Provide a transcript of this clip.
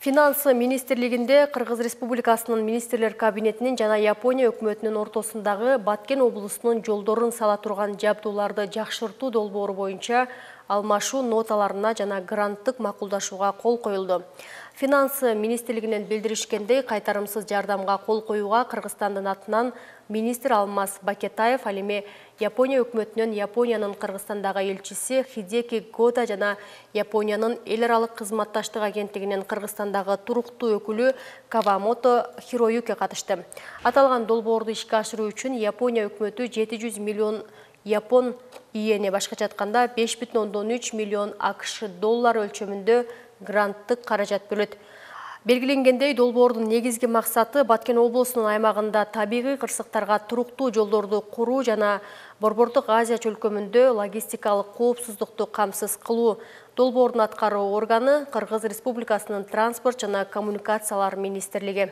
Финансы министрлигинде Кыргыз Республикасынын министрлер кабинетинин жана Япония өкмөтүнүн ортосундагы Баткен облусунун жолдорун сала турган жабдууларды жакшыртуу долбоору боюнча алмашуу ноталарына жана гранттык макулдашууга кол коюлду. Финансы министрлигинен билдиришкендей, кайтарымсыз жардамга кол коюуга Кыргызстандын атынан министр Алмаз Бакетаев, ал эми Япония өкмөтүнүн Япониянын Кыргызстандагы элчиси Хидеки Года жана Япониянын эл аралык кызматташтык агенттигинин Кыргызстандагы туруктуу өкүлү Кавамото Хироюке катышты. Аталган долбоорду ишке ашыруу үчүн Япония өкмөтү 700 миллион Япон иене, башкача айтканда 5,3 миллион АКШ доллары өлчөмүндө гранттык каражат бөлөт. Белгиленгендей, долбоордун негизги максаты Баткен облусунун аймагында табигый кырсыктарга туруктуу жолдорду куруу жана Борбордук Азия чөлкөмүндө логистикалык коопсуздукту камсыз кылуу. Долбоордун аткаруу органы Кыргыз Республикасынын транспорт жана коммуникациялар министрлиги.